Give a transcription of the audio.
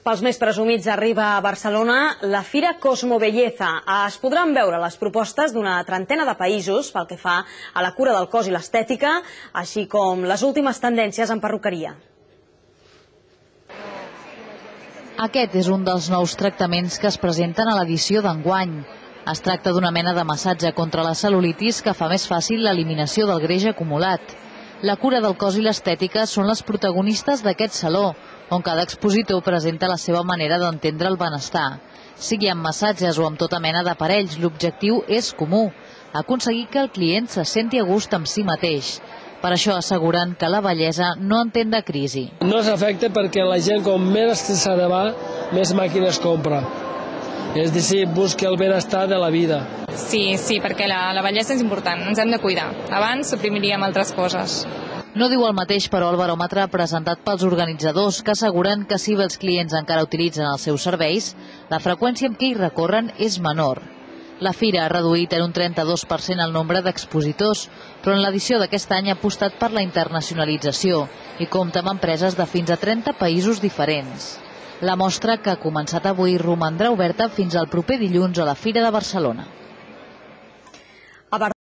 Pels més presumits arriba a Barcelona la Fira Cosmobelleza. Es podran veure les propostes d'una trentena de països pel que fa a la cura del cos i l'estètica, així com les últimes tendències en perruqueria. Aquest és un dels nous tractaments que es presenten a l'edició d'enguany. Es tracta d'una mena de massatge contra la cel·lulitis que fa més fàcil l'eliminació del greix acumulat. La cura del cos i l'estètica són les protagonistes d'aquest saló, on cada expositor presenta la seva manera d'entendre el benestar. Sigui amb massatges o amb tota mena d'aparells, l'objectiu és comú, aconseguir que el client se senti a gust amb si mateix. Per això asseguren que la bellesa no entén de crisi. No s'afecta perquè la gent, com més estressada va, més màquines compra. És a dir, busca el benestar de la vida. Sí, perquè la bellesa és important, ens hem de cuidar. Abans suprimiríem altres coses. No diu el mateix, però, el baròmetre presentat pels organitzadors, que asseguren que si bé els clients encara utilitzen els seus serveis, la freqüència amb què hi recorren és menor. La fira ha reduït en un 32% el nombre d'expositors, però en l'edició d'aquest any ha apostat per la internacionalització i compta amb empreses de fins a 30 països diferents. La mostra, que ha començat avui, romandrà oberta fins al proper dilluns a la Fira de Barcelona.